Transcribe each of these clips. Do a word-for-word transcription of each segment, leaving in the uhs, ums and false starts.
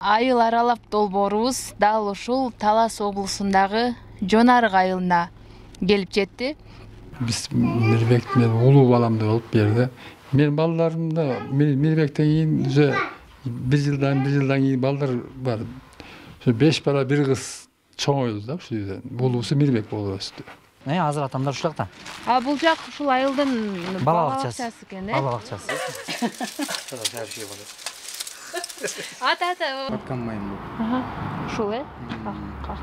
Айыл аралап долбоорубуз дал ушул Талас облусундагы Жон Арык айылына келип жетти. Биз Мирбек мен улуу баламды алып берди. Мен балдарымда Мирбектен кийин уже бир жылдан бир жылдан кийин балдар бар. Ошо беш бала бир кыз чоңойду да ушул жерден. Улуусу Мирбек болуп өстү. Э, азыр атамдар ушул жакта. А бул жак ушул айылдын бала бакчасы экен, э? Бала бакчасы. Ата ата. Аткан майым бул. Ага. Ушул, э? Как?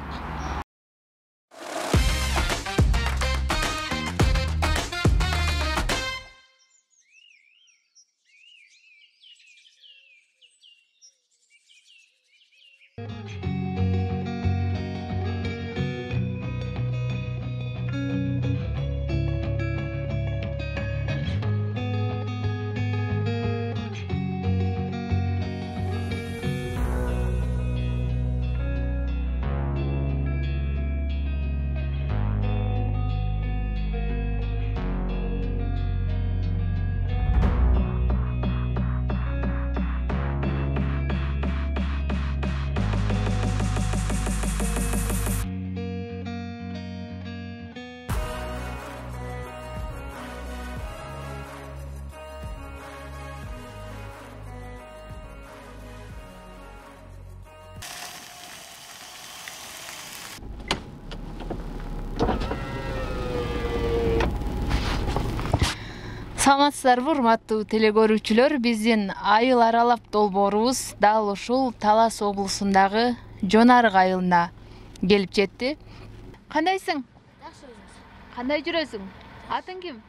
Саламатсыздарбы, урматтуу телекөрүүчүлөр? Биздин айыл аралап долбоорубуз дал ушул Талас облусундагы Жон Арык айылына келип жетти. Кандайсың? Жакшы жүрөсүң. Кандай жүрөсүң? Атың ким?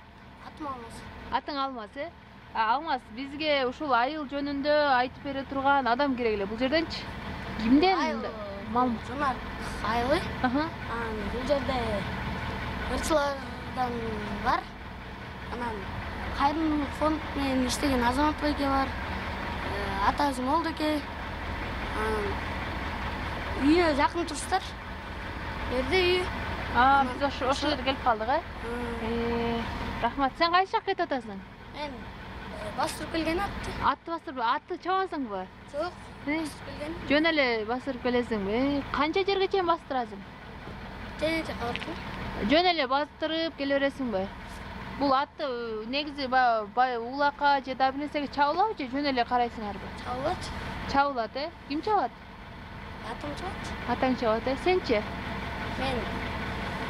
Атым Алмаз. Атың Алмаз, э? Алмаз, бизге ушул айыл жөнүндө айтып бере турган адам керек эле. Бул жерденчи? Кимден? Жон Арык айылы. Аха. Бул жерде ырчылардан бар. Анан кайрымдуулук фонд менен иштеген Азамат байке бар. Атасы Молдоке. Үйүнө жакын турсуздар. Жерде үйү. А, биз ошол ошол жерге келип калдык, э? Рахмат. Сен кайсы жакка кетип атасың? Мен бастырып келген атты. Атты бастырып, атты чабасыңбы? Жок, бастырып келген. Жөн эле басырып келесиңби? Канча жерге чейин бастырасың? Тээ жакка барып. Жөн эле бастырып келе бересиңби? Бул атты негизи баягы улакка же да бир нерсеге чабылабы же жөн эле карайсыңарбы? Чабылат. Чабылат, э? Ким чабат? Атым чабат. Атаң чабат, э? Сенчи? Мен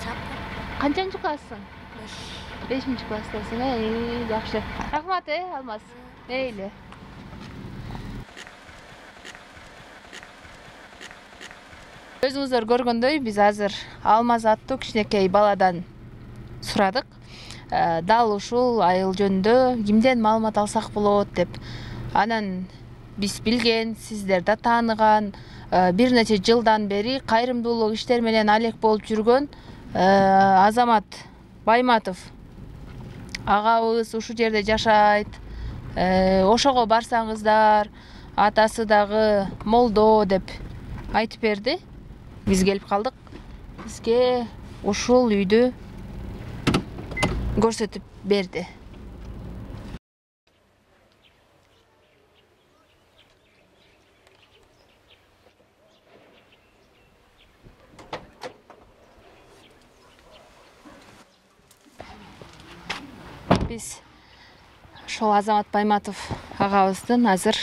чаппам. Канчанчы класссың? бешинчи класстасың, э? Жакшы. Рахмат, э, Алмаз. Мейли. Өзүңүздөр көргөндөй, биз азыр Алмаз аттуу кичинекей баладан сурадык. Дал ушул айыл жөнүндө кимден маалымат алсак болот деп. Анан биз билген, сиздер да тааныган, бир нече жылдан бери кайрымдуулук иштер менен алек болуп жүргөн Азамат Байматов агабыз ушул жерде жашайт. Ошого барсаңыздар, атасы дагы молдо деп айтып берди. Биз келип калдык. Бизге ушул үйдү көрсөтүп берди. Биз ошол Азамат Байматов агабыздын азыр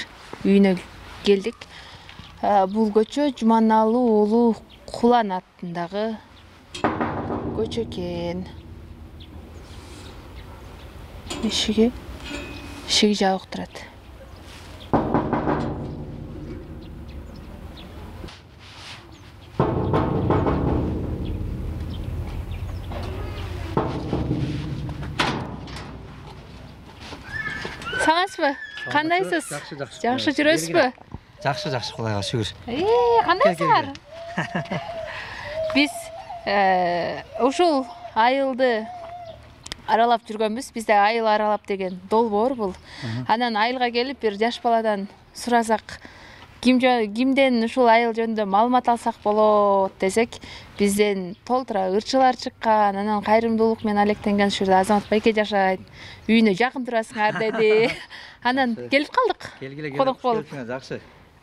үйүнө келдик. Бул көчө Жуманалуу уулу Кулан аттындагы көчө экен. Ишиги ишиги жабык турат. Саламатсызбы? Кандайсыз? Жакшы, жакшы. Жакшы жүрөсүзбү? Жакшы, жакшы, Кудайга шүгүр. Э, кандайсыңар? Биз ушул айылды аралап жүргөнбүз. Бизде айыл аралап деген долбоор бул. Анан айылга келип бир жаш баладан сурасак, кимден ушул айыл жөнүндө маалымат алсак болот десек, бизден толтура ырчылар чыккан, анан кайрымдуулук менен алектенген ушул жерде Азамат байке жашайт. Үйүнө жакын турасыңар деди. Анан келип калдык. Келгиле Конок болуп. Жакшы.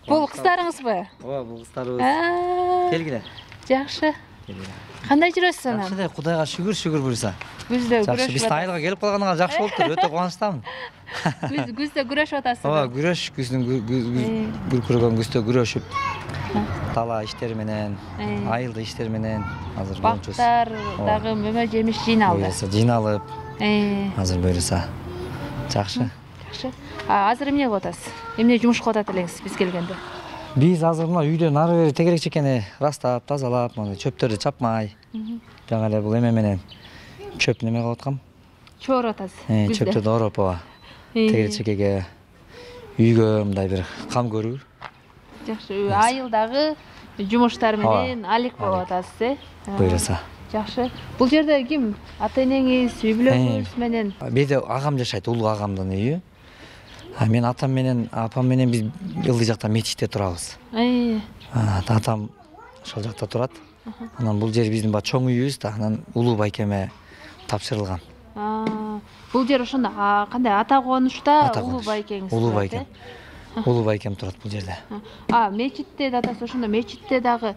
Бул кыздарыңызбы? Ооба, бул кыздарыбыз. Келгиле. Жакшы. Кандай жүрөсүз анан? Жакшы да, Кудайга шүгүр, шүгүр буюрса. Күздө Жакшы, күрөшүп биз айылга келип калганга жакшы болуптур. Өтө кубанычтамын. Күз күздө күрөшүп атасызбы? Ооба, күрөш, күздүн күркүрөгөн күздө күрөшүп, тала иштери менен, айылда иштери менен азыр болчубуз. Бактар дагы мөмө жемиш жыйналды. Буюрса жыйналып, азыр буюрса жакшы. Жакшы. Азыр эмне кылып атасыз? Эмне жумуш кылып атат элеңиз биз келгенде? Биз азыр мына үйдөн ары бери тегерек чекени ырастап, тазалап, мына чөптөрдү чапмай, жаңы эле бул эме менен чөп неме кылып аткам. Чоруп атасыз. Чөптөрдү ороп, ооба. Тегерек чекеге, үйгө мындай бир кам көрүү. Жакшы. Айылдагы жумуштар менен алек болуп атасыз, э? Буюрса. Жакшы. Бул жерде ким? Ата-энеңиз, үй бүлөңүз менен? Бизде агам жашайт, улуу агамдын үйү. Мен атам менен, апам менен биз ылдый жакта мечитте турабыз. Атам ошол жакта турат. Анан бул жер биздин чоң үйүбүз да, анан улуу байкеме тапшырылган. Бул жер ошондо кандай ата конушта улуу байкеңиз турат? Улуу байкем. Улуу байкем турат бул жерде. А, мечитте да атасы ошондо мечитте дагы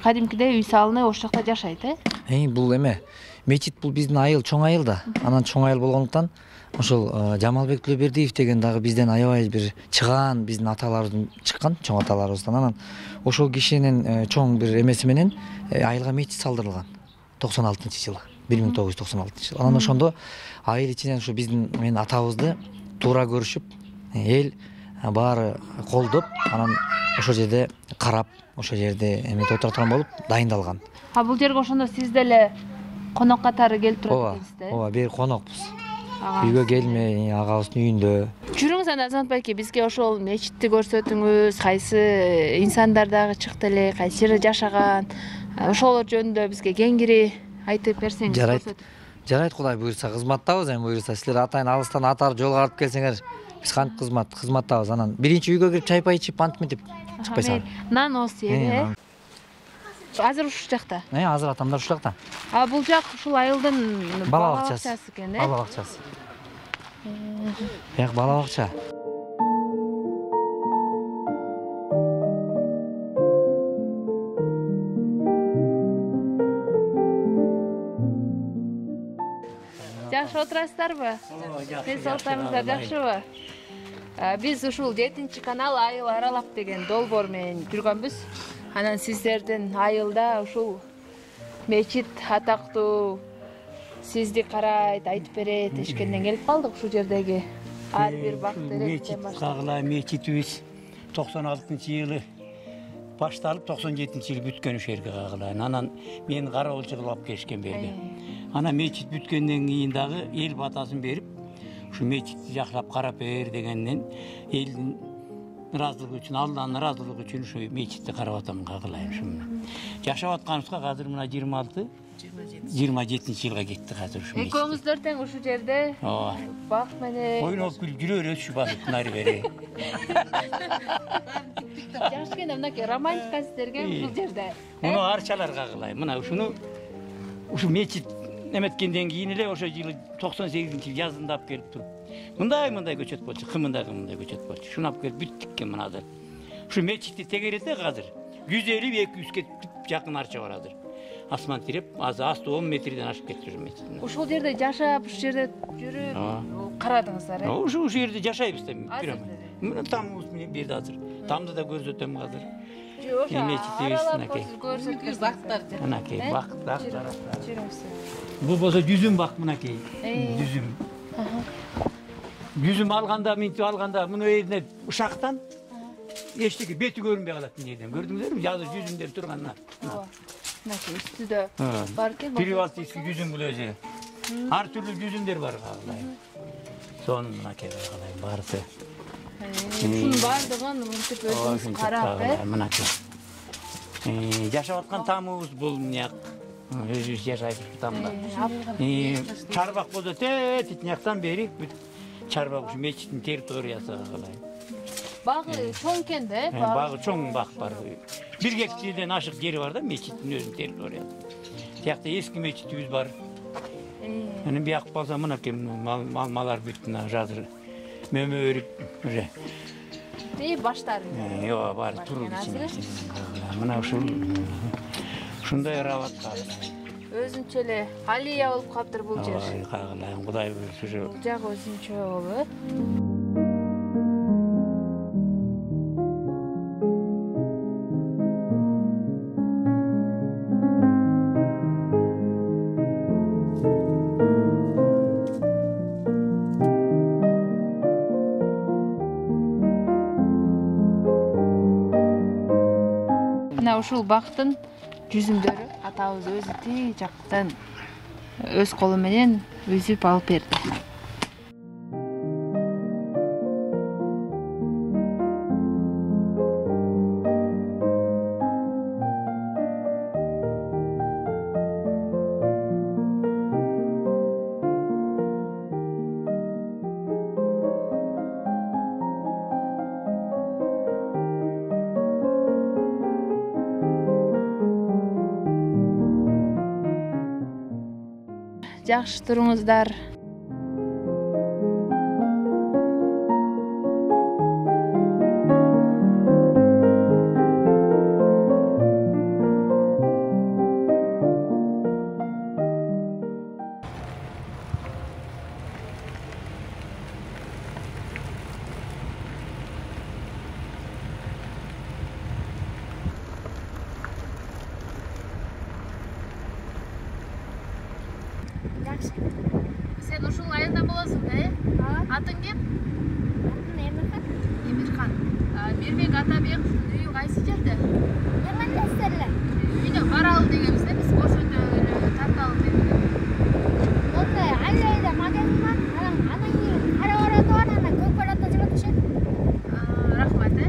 кадимкидей үй салынып ошол жакта жашайт, э? Бул эме, мечит бул биздин айыл, чоң айыл да. Анан чоң айыл болгондуктан ошол Жамалбек Төлөбердиев деген дагы бизден аябай бир чыгаан биздин аталарыбыздан чыккан, чоң аталарыбыздан. Анан ошол кишинин чоң бир эмеси менен айылга мечит салдырылган токсон алтынчы жылы, бир миң тогуз жүз токсон алтынчы жылы. Анан ошондо айыл ичинен ушу биздин мен атабызды туура көрүшүп, эл баары колдоп, анан ошол жерде карап, ошол жерде эмете отура турган болуп дайындалган. А бул жерге ошондо сиз деле конок катары келип турат экенсиз да? Ооба, бери конокпуз. Үйгө келмей, агабыздын үйүндө. Жүрүңүз анда Азамат байке, бизге ошол мечитти көрсөтүңүз, кайсы инсандар дагы чыкты эле, кайсы жерде жашаган, ошолор жөнүндө бизге кеңири айтып берсеңиз. Жарайт. Жарайт, Кудай буйрса кызматтабыз, эми буйрса силер атайын алыстан атар жолго карап келсеңер, биз кантип кызмат, кызматтабыз. Анан биринчи үйгө кирип чай пай ичип антип мынтип чыкпайсыңар. Нан оосы э? Азыр ушул жакта? Э, азыр атамдар ушул жакта. А бул жак ушул айылдын бала бакчасы экен, э? Бала бакчасы. Бияк бала бакча. Жакшы отурасыздарбы? Сиз саатыңыздар жакшыбы? Биз ушул жетинчи канал айыл аралап деген долбоор менен жүргөнбүз. Анан сиздердин айылда ушул мечит атактуу сизди карайт, айтып берет дешкенден келип калдык. Ушул жердеги ар бир бак теректен баштап. Кагыла мечитибиз токсон алтынчы жылы башталып токсон жетинчи жылы бүткөн ушул жерге кагыла. Анан мен кароолчу кылып алып келишкен берге. Анан мечит бүткөндөн кийин дагы эл батасын берип, ушу мечитти жакшылап карап бер дегенден элдин ыраазылыгы үчүн, Алланын ыраазылыгы үчүн ушу мечитти карап атам кагылайм ушуну. Жашап атканыбызга азыр мына жыйырма алты жыйырма жетинчи жылга кетти азыр ушу мечит. Экөөңүздөр тең ушул жерде бак менен ойноп күлүп жүрө бересиз басып нары бери. Жакшы экен, мынакей романтика сиздерге ушул жерде. Муну арчалар кагылайм. Мына ушуну ушу мечит эметкенден кийин эле ошо жылы токсон сегизинчи жылы жазында алып келип туруп. Мындай мындай көчөт болчу, кымындай мындай көчөт болчу. Шуну алып келип бүттүк экен мына азыр. Ушу мечитти тегерете азыр жүз элүү эки жүзгө жакын арча бар азыр. Асман тиреп, азыр асты он метрден ашып кетти ушу мечит. Ушул жерде жашап, ушул жерде жүрүп карадыңыздар, э? Ушу ушул жерде жашайбыз да. Мына тамыбыз менен берди азыр. Тамды да көрсөтөм азыр. Жок, аралап көрсөткүз бактар. Мынакей бак, бактар. Бул болсо жүзүм бак, мынакей. Жүзүм. Жүзүм алганда, минтип алганда, муну элине ушактан эчтеке бети көрүнбөй калат мынеден. Көрдүңүзбү? Азыр жүзүмдөр турган. Мынакей үстүдө бар экен. Привалтийский жүзүм бул өзү. Ар түрлүү жүзүмдөр бар кагылайм. Сонун мынакей кагылайм барысы. Ушунун баардыгын мынтип өзүңүз карап, э? Мынакей. Жашап аткан тамыбыз бул мыняк. Өзүбүз жашайбыз тамда. Чарбак болсо тет тияктан бери чарбак ушу мечиттин территориясы кагылайм. Багы чоң экен да, э? Багы чоң бак бар. Бир гектардан ашык жери бар да мечиттин өзүнүн территориясы. Тиякта эски мечитибиз бар. Анан бияк болсо мынакей малар бүт мына жазыр мөмө өрип уже И баштары. Ооба, баары туруп ичинде. Мына ушул ушундай ырабатка. Өзүнчө эле алия болуп калыптыр бул жер. Ой, кагылайм, Кудай буйрса. Бул жак өзүнчө болуп. Мына ушул бактын жүзүмдөрү атабыз өзү тиги жактан өз колу менен үзүп алып берди. Жакшы туруңуздар. Сен ушул айылда болосуң да, э? Атың кем? Атым Эмирхан. Эмирхан. Мирбек Атабек үйү кайсы жерде? Эмелестерле. Үйдө баралы дегенбиз да, биз көчөдө эле тарталы деп. Онда айлайда магазин бар. Анан анан кийин кара барат бар, анан көк баратта жатышат. Рахмат, э?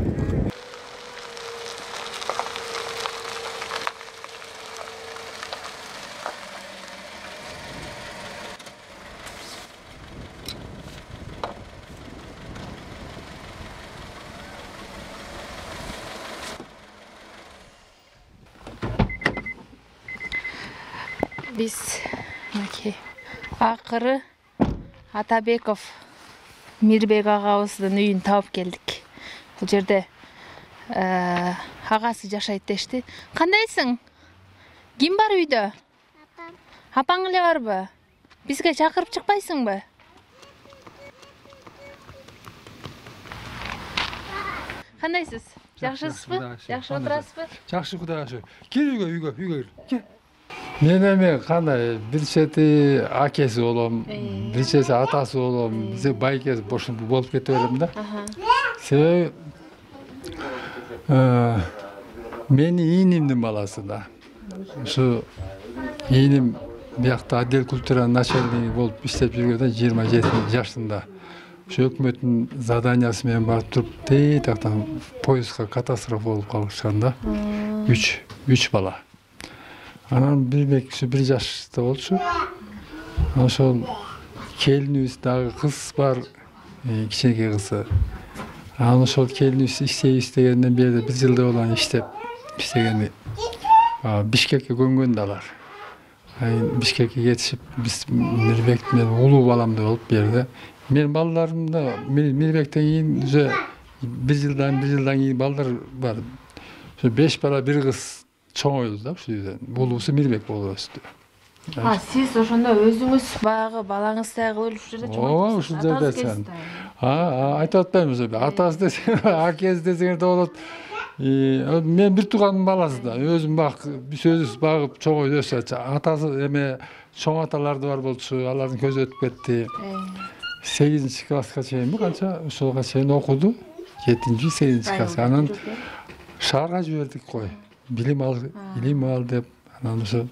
Биз мынакей акыры Атабеков Мирбек агабыздын үйүн таап келдик. Бул жерде агасы жашайт дешти. Кандайсың? Ким бар үйдө? Апам. Апаң эле барбы? Бизге чакырып чыкпайсыңбы? Кандайсыз? Жакшысызбы? Жакшы отурасызбы? Жакшы, Кудайга шүгүр. Кел үйгө, үйгө, үйгө кел. Мен эми кандай бир чети акеси болом, бир чети атасы болом, биз байкеси бошун болуп кете берем да. Себеби менин ийнимдин баласы да. Ушу ийним биякта отдел культура начальниги болуп иштеп жүргөндө жыйырма жети жашында. Ушу өкмөттүн заданиясы менен барып туруп тей тактан поездга катастрофа болуп калышкан да. Үч, үч бала. Анан Мирбек бир жашта болчу. Ошол келинибиз дагы кыз бар, кичинекей кызы. Анан ошол келинибиз иштейбиз дегенден бери бир жылда болон иштеп иштегени. Бишкекке көнгөн да алар. Бишкекке кетишип, биз Мирбек менен улуу баламды болуп берди. Менин балдарым да Мирбектен кийин уже бир жылдан бир жылдан кийин балдар бар. Ошо беш бала бир кыз чоңойлду да ушул үйдөн. Булуусу Мирбек болуп өстү. А, сиз ошондо өзүңүз баягы балаңыздай кылып ушул жерде чоңойтуп. Ооба, ушул жерде сен. А, айтып атпаймынбы эми. Атасы десең, акеси десең да болот. Мен бир туугандын баласы да. Өзүм бак, биз өзүбүз багып чоңойтуп өстүк. Атасы эме чоң аталар да бар болчу, алардын көзү өтүп кетти. сегизинчи класска чейинби канча ошолго чейин окуду. жетинчи, сегизинчи класска. Анан шаарга жибердик кой. Билим ал, илим ал деп, анан ошо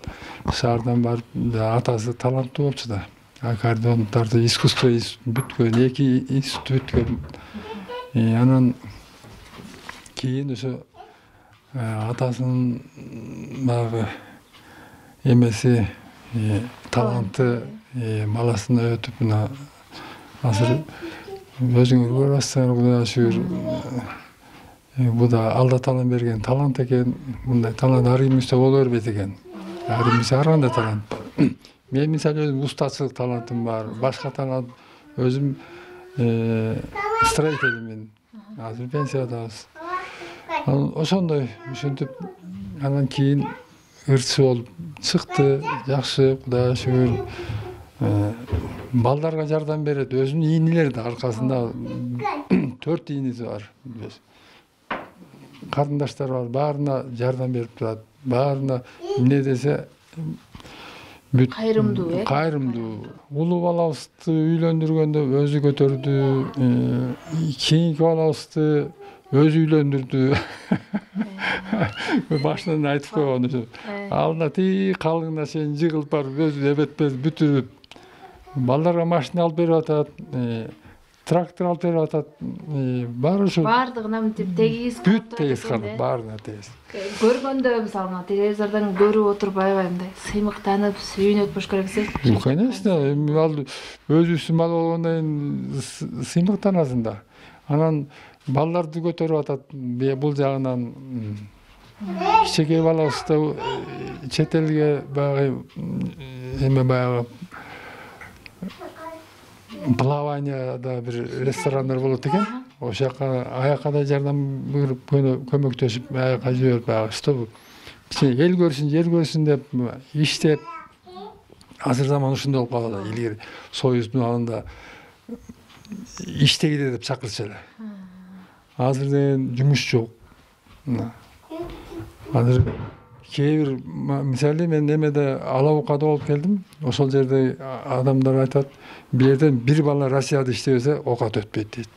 шаардан барып, атасы таланттуу болчу да. Аккордеондорду искусство бүткөн, эки институт бүткөн. Анан кийин ошо атасынын баягы эмеси, таланты баласына өтүп, мына азыр өзүңөр көрүп атсыңар, Кудайга шүгүр. Бу да Алла Таалам берген талант экен. Мындай талант ар кимибизде боло бербейт экен. Ар кимибизде ар кандай талант бар. Мен мисалы өзүм устачылык талантым бар, башка талант өзүм строительмен азыр пенсиядабыз. Анан ошондой ушинтип анан кийин ырчы болуп чыкты. Жакшы, Кудайга шүгүр. Балдарга жардам берет. Өзүнүн ийнилери да аркасында төрт ийниси бар. Карындаштар бар, баарына жардам берип турат. Баарына эмне десе кайрымдуу, э? Кайрымдуу. Улуу балабызды үйлөндүргөндө өзү көтөрдү. Кийинки балабызды өзү үйлөндүрдү. Башынан айтып койгон ушу. Алдына тии калыңына чейин жыгылып барып өзү эбетпез бүтүрүп балдарга машина алып берип атат, трактор алып берип атат. Баары ушу Бардыгына мынтип тегиз бүт тегиз карап, баарына тегиз. Көргөндө мисалы мына телевизордон көрүп отуруп аябай мындай сыймыктанып, сүйүнүп болуш керек экен. Конечно, эми ал өзүбүздүн бала болгондон кийин сыймыктанасың да. Анан балдарды көтөрүп атат бул жагынан. Кичинекей балабызды чет элге баягы эме баягы плаванияда бир ресторандар болот экен. Ошол жака аяка да жардам берип көмөктөшүп аяка жиберип баягы чтобы эл көрсүн, жер көрсүн деп иштеп. Азыр заман ушундай болуп калды. Илгери Союздун алдында иштегиле деп чакырчу эле. Азыр деген жумуш жок. Азыр кээ бир мисалы мен немеде Алабукада болуп келдим. Ошол жерде адамдар айтат, бул жерден бир бала Россияда иштебесе окат өтпөйт дейт.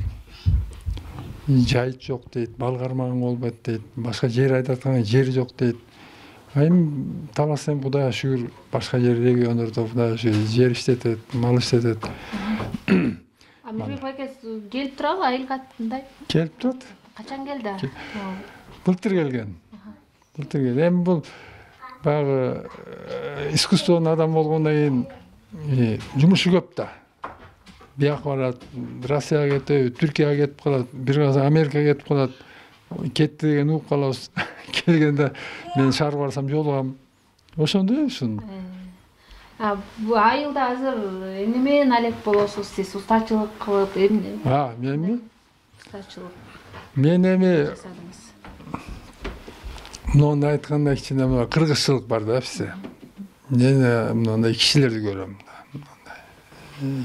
Жайыт жок дейт, бал кармаган болбойт дейт, башка жер айдаткан жер жок дейт. Эми таласем Кудайга шүгүр, башка жер региондордо Кудайга шүгүр жер иштетет, мал иштетет. Мирбек байке келип турабы айыл катындай? Келип турат. Качан келди? Былтыр келген. Былтыр келген. Эми бул баягы искусствонун адам болгондон кийин жумушу көп да. Бияка барат, Россияга кетет, Түркияга кетип калат, бир каза Америкага кетип калат. Кетти деген угуп калабыз. Келгенде мен шаар барсам жолугам. Ошондой ушун. А бул айылда азыр эмне менен алек болосуз сиз? Устачылык кылып, эмне? А, менми? Устачылык. Мен эми жасадыңыз. мындай айтканда кичине мына кыргызчылык бар да бизде. Мен мындай кишилерди көрөм.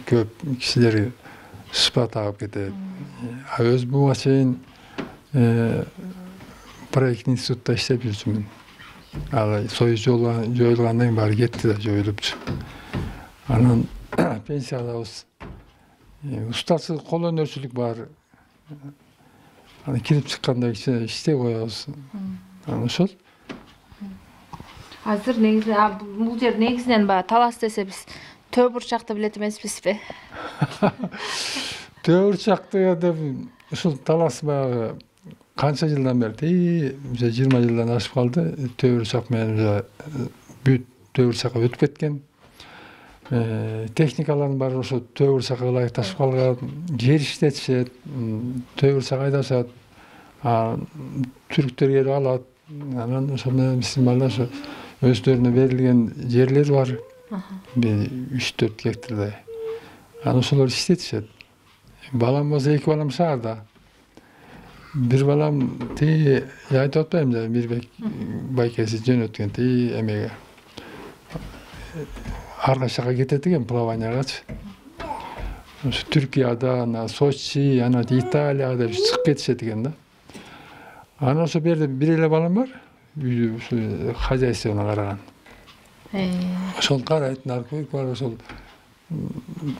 Көп кишилер шпа тагып кетет. А өз буга чейин проект институтта иштеп жүрчүмүн. Ал Союз жоюлгандан кийин баары кетти да, жоюлупчу. Анан пенсиядабыз. Устачылык, кол өнөрчүлүк бар. Анан кирип чыкканда кичине иштеп коебуз. Анан ошол. Азыр негизи бул жер негизинен баягы талас десе биз төө бурчакты билет эмеспизби? Төө бурчакты деп ушул талас баягы канча жылдан бери, жыйырма жылдан ашып калды. Төө бурчак менен бүт төө бурчакка өтүп кеткен. Техникалардын баары ошо төө бурчакка ылайыкташып калган. Жер иштетишет, төө бурчак айдашат. Түрктөр келип алат. Анан ошол менен биздин балдар ошо өздөрүнө берилген жерлер бар. үч төрт гектардай. Анан ошолор иштетишет. Балам болсо эки балам шаарда. Бир балам тиги айтып атпаймынбы, Мирбек байкеси жөнөткөн тиги эмеге. Арка жака кетет экен плаваниягачы. Ошо Түркияда, ана Сочи, ана Италияга деп чыгып кетишет экен да. Анан ошо берде бир эле балам бар. Ушу хозяйствону караган. Ошол карайт, наркотик бар, ошол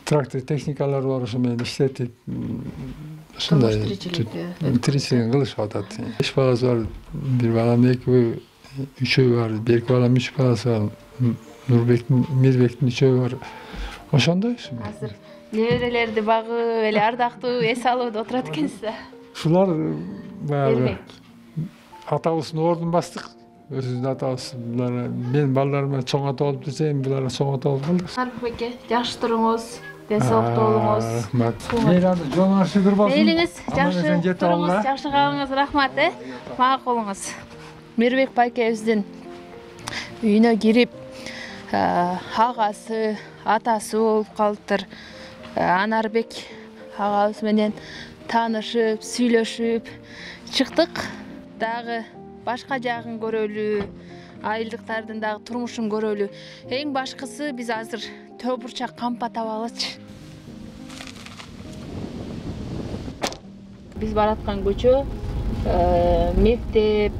трактор техникалар бар, ошо менен иштетип, ошондой тиричилигин кылышып атат. Беш баласы бар, бир балам эки, үчөө бар, берки балам үч баласы бар, Нурбектин, Мирбектин үчөө бар. Ошондой. Азыр неберелерди багып, эле ардактуу эс алып отурат экенсиз да. Ушулар баягы атабыздын ордун бастык. Өзүбүздүн атабыз, мен балдарыма чоң ата болуп десем, булар чоң ата болуп калды. Арбек байке, жакшы туруңуз, ден соолуктуу болуңуз. Рахмат. Мейрамды жолуңуз шүгүр болсун. Мейлиңиз, жакшы туруңуз, жакшы калыңыз, рахмат, э. Макулуңуз. Мирбек байкебиздин үйүнө кирип, агасы, атасы болуп калыптыр. Анарбек агабыз менен таанышып, сүйлөшүп чыктык. Дагы башка жагын көрөлү, айылдыктардын дагы турмушун көрөлү. Эң башкысы биз азыр төө бурчак кампа табалычы. Биз бараткан көчө мектеп,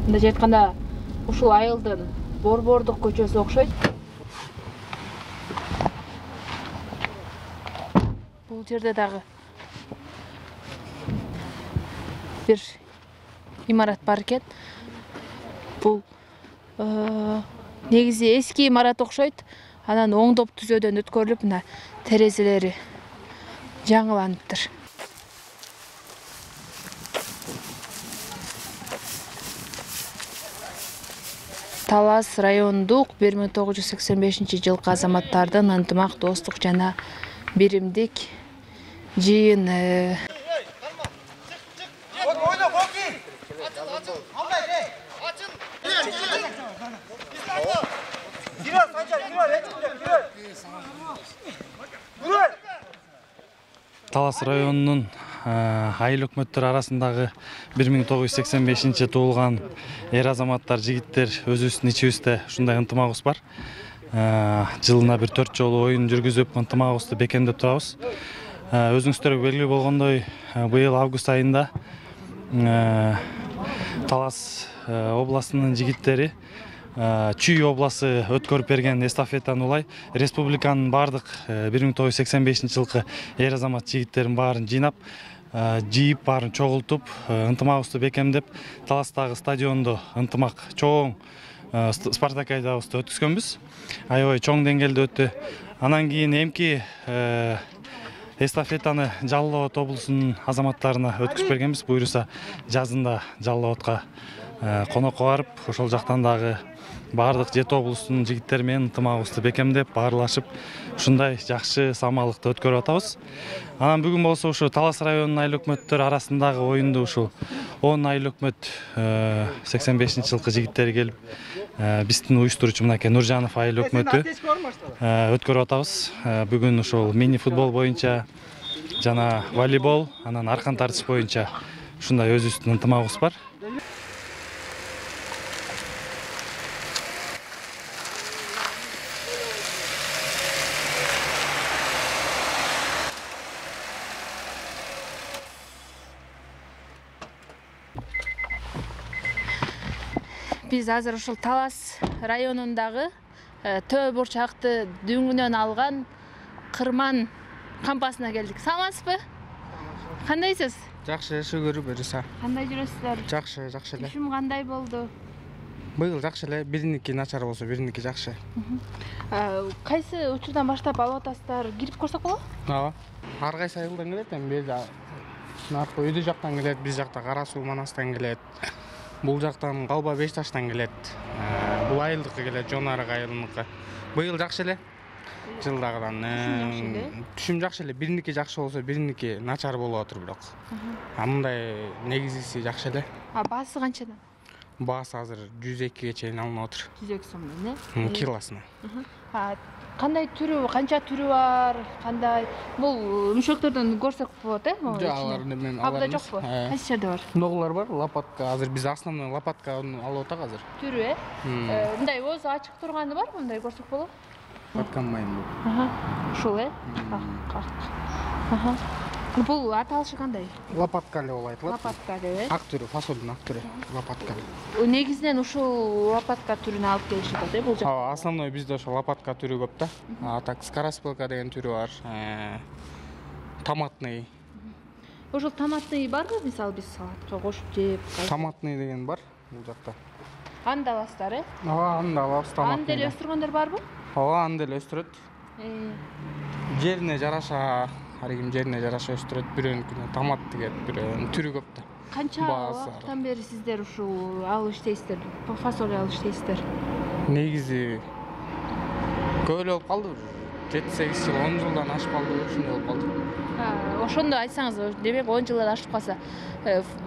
мындайча айтканда ушул айылдын борбордук көчөсү окшойт. Бул жерде дагы бир имарат бар экен. Бул негизи эски имарат окшойт. Анан оңдоп түзөөдөн өткөрүлүп, мына терезелери жаңыланыптыр. Талас райондук бир миң тогуз жүз сексен бешинчи жылкы азаматтардын ынтымак, достук жана биримдик жыйыны. Талас районунун айыл өкмөттөр арасындагы бир миң тогуз жүз сексен бешинчи туулган эр азаматтар, жигиттер өзүбүздүн ичибизде ушундай ынтымагыбыз бар. Жылына бир төрт жолу оюн жүргүзүп, ынтымагыбызды бекемдеп турабыз. Өзүңүздөргө белгилүү болгондой, быйыл август айында Талас областынын жигиттери Чүй обласы өткөрүп берген эстафетаны улай республиканын бардык бир миң тогуз жүз сексен бешинчи жылкы эр азамат жигиттерин баарын жыйнап, жыйып, баарын чогултуп, ынтымагыбызды бекемдеп, Таластагы стадиондо ынтымак чоң спартакиадабызды өткүзгөнбүз. Аябай чоң деңгээлде өттү. Анан кийин эмки эстафетаны Жалал Абад облусунун азаматтарына өткүзүп бергенбиз. Буюрса жазында Жалал Абадка конокко барып, ошол жактан дагы бардык жети облустун жигиттери менен ынтымагыбызды бекемдеп, баарлашып, ушундай жакшы самалыкты өткөрүп атабыз. Анан бүгүн болсо ушу Талас районунун айыл өкмөттөр арасындагы оюнду ушул он айыл өкмөт сексен бешинчи жылкы жигиттери келип, биздин уюштуруучу мынакей Нуржанов айыл өкмөтү өткөрүп атабыз. Бүгүн ушул мини футбол боюнча жана волейбол, анан аркан тартыш боюнча ушундай өзүбүздүн ынтымагыбыз бар. Биз азыр ушул Талас районундагы төө бурчакты дүңүнөн алган Кырман кампасына келдик. Саламатсызбы? Кандайсыз? Жакшы, шүгүр, буюрса. Кандай жүрөсүздөр? Жакшы, жакшы эле. Түшүм кандай болду? Быйыл жакшы эле, бириники начар болсо, бириники жакшы. Кайсы учурдан баштап алып атасыздар? Кирип көрсөк болобу? Ооба. Ар кайсы айылдан келет, эми бул наркы өйдө жактан келет, биз жакта Кара Суу Манастан келет. Бул жактан Калба Беш Таштан келет. Бул айылдыкка келет, Жонарык айылыныкы. Быйыл жакшы эле. Жылдагыдан түшүм жакшы эле. Бириники жакшы болсо, бириники начар болуп атыр бирок. А мындай негизиси жакшы эле. А баасы канчадан? Баасы азыр жүз экиге чейин алынып атыр. жүз эки сомдон, э? Килосуна. Кандай түрү, канча түрү бар? Кандай? Бул мüşөктөрдөн көрсөк болот, э? Жок, алар мен алар. Абда жокпу? Кайсы жерде бар? Ноголор бар, лопатка. Азыр биз основной лопатканы алып атак азыр. Түрү, э? Мындай өзү ачык турганы барбы? Мындай көрсөк болобу? Атканмайм бул. Аха. Ушул, э? Аха. Бул аталышы кандай? Лопатка деп айтылат. Лопатка деп, э? Ак түрү, фасолдун ак түрү, лопатка. Негизинен ушул лопатка түрүнө алып келишип атат, э, бул жакта. Ооба, основной бизде ошо лопатка түрү көп да. А так скороспелка деген түрү бар. Томатный. Ошол томатный барбы? Мисалы биз салатка кошуп жеп. Томатный деген бар бул жакта. Аны да аласыздар, э? Ооба, аны да алабыз, томатный. Аны деле өстүргөндөр барбы? Ооба, аны деле өстүрөт. Жерине жараша, ар ким жерине жараша өстүрөт. Бирөөнүкүнө томат тигет, бирөөнүн түрү көп да. Канча убакыттан бери сиздер ушул алып иштейсиздер? Фасоль алып иштейсиздер? Негизи көп эле болуп калды. жети сегиз жыл, он жылдан ашып калды, ушундай болуп калды. Ошондо айтсаңыз, демек он жылдан ашып калса,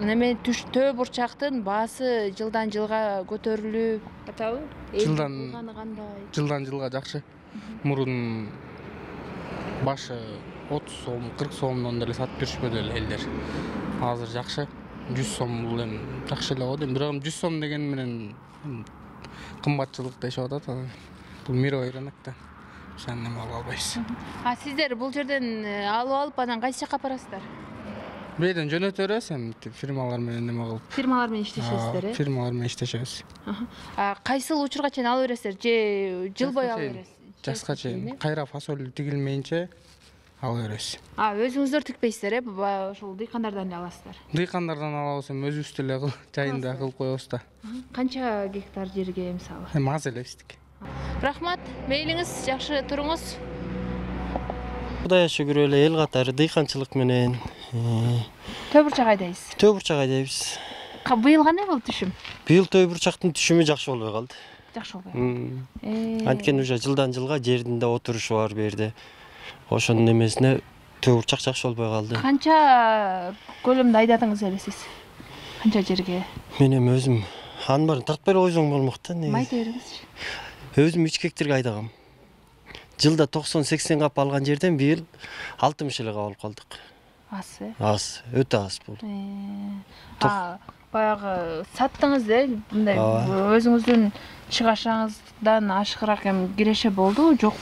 неме төө бурчактын баасы жылдан жылга көтөрүлүп атабы? Жылдан жылдан жылга жакшы. Мурун башы отуз сом кырк сомдон деле сатып беришпөдү эле элдер. Азыр жакшы. жүз сом бул эми жакшы эле го дейм. Бирок жүз сом деген менен кымбатчылык дешип атат. Бул мировой рынок да. Ошону эме ала албайбыз. А сиздер бул жерден алып алып анан кайсы жака барасыздар? Бирден жөнөтө беребиз эми фирмалар менен эме кылып. Фирмалар менен иштешесиздер, э? Фирмалар менен иштешебиз. А кайсыл учурга чейин ала бересиздер же жыл бою ала бересиз? Жазга чейин кайра фасоль тигилмейинче ала беребиз. А өзүңүздөр тикпейсиздер, э? Ошол дыйкандардан эле аласыздар. Дыйкандардан алабыз, эми өзүбүз деле жайында кылып коебуз да. Канча гектар жерге мисалы? Эми аз эле биздики. Рахмат, мейлиңиз, жакшы туруңуз. Кудайга шүгүр эле эл катары дыйканчылык менен Төө бурчак айдайбыз. Төө бурчак айдайбыз. Быйыл кандай болду түшүм? Быйыл төө бурчактын түшүмү жакшы болбой калды. Жакшы болбой. Анткени уже жылдан жылга жердин да отурушу бар бу жерде. Ошонун эмесине төө бурчак жакшы болбой калды. Канча көлөмдө айдадыңыз элесиз? Канча жерге? Мен эми өзүм анын баарын тартпай эле койсоң болмок да. Ма айта бериңизчи. Өзүм үч гектарга айдагам. Жылда токсон сексен кап алган жерден быйыл алтымыш эле кап алып калдык. Аз, э? Аз, өтө аз бул. А, баягы саттыңыз, э? Мындай өзүңүздүн чыгашыңыздан ашыгыраак эми киреше болду, жок?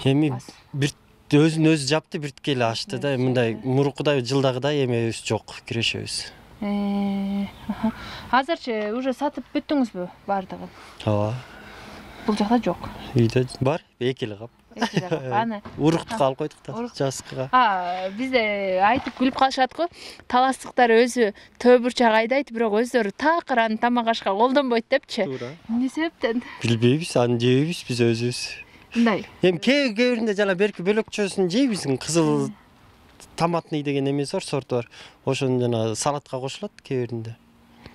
Эми бир өзүн өзү жапты, биртке эле ачты да. Мындай мурукудай жылдагыдай эмебиз жок, кирешебиз. Азырчы уже сатып бүттүңүзбү баардыгын? Ооба. Бул жакта жок. Үйдө бар, эки эле кап. Эки эле кап. Аны уруктукка алып койдук да, жазгыга. А, бизде айтып күлүп калышат го. Таластыктар өзү төө бурчак айдайт, бирок өздөрү такыр аны тамак ашка колдонбойт депчи. Туура. Эмне себептен? Билбейбиз, аны жейбиз биз өзүбүз. Мындай. Эми кээ көөрүндө жана берки бөлөкчөсүн жейбиз, кызыл томатный деген эмеси бар, сорту бар. Ошону жана салатка кошулат кээ.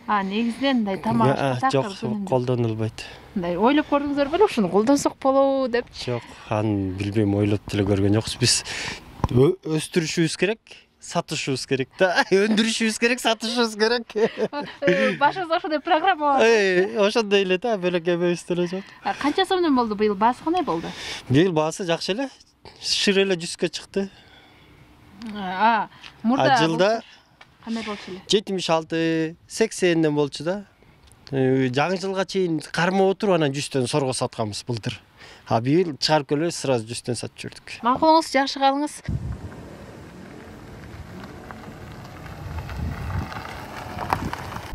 А, негизинен мындай тамак ашка такыр жок, колдонулбайт. Мындай ойлоп көрдүңүздөр беле, ушуну колдонсок болобу депчи? Жок, аны билбейм, ойлоп деле көргөн жокпуз. Биз өстүрүшүбүз керек, сатышыбыз керек да. Өндүрүшүбүз керек, сатышыбыз керек. Башыңызда ошондой программа бар. Эй, ошондой эле да, бөлөк эмебиз деле жок. Канча сомдон болду быйыл? Баасы кандай болду? Быйыл баасы жакшы эле. Шыр эле жүзгө чыкты. А, мурда жылда кандай болчу эле? жетимиш алты сексенден болчу да. Жаңы жылга чейин кармап отуруп анан жүздөн сорго сатканбыз былтыр. А быйыл чыгарып келип сразу жүздөн сатып жүрдүк. Макулуңуз, жакшы калыңыз.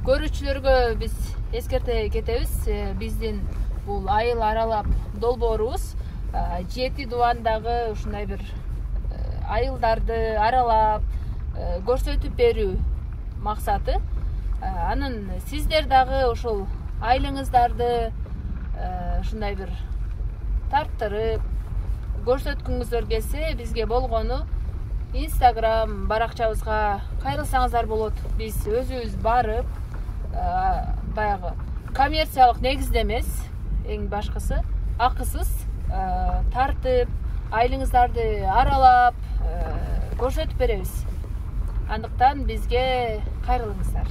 Көрүүчүлөргө биз эскерте кетебиз. Биздин бул айыл аралап долбоорубуз жети дубандагы ушундай бир айылдарды аралап көрсөтүп берүү максаты. Анын сиздер дагы ошол айылыңыздарды ушундай бир тарттырып көрсөткүңүздөр келсе, бизге болгону Instagram баракчабызга кайрылсаңыздар болот. Биз өзүбүз барып, баягы коммерциялык негизде эмес, эң башкысы акысыз тартып, айылыңыздарды аралап көрсөтүп беребиз. Андыктан бизге кайрылыңыздар.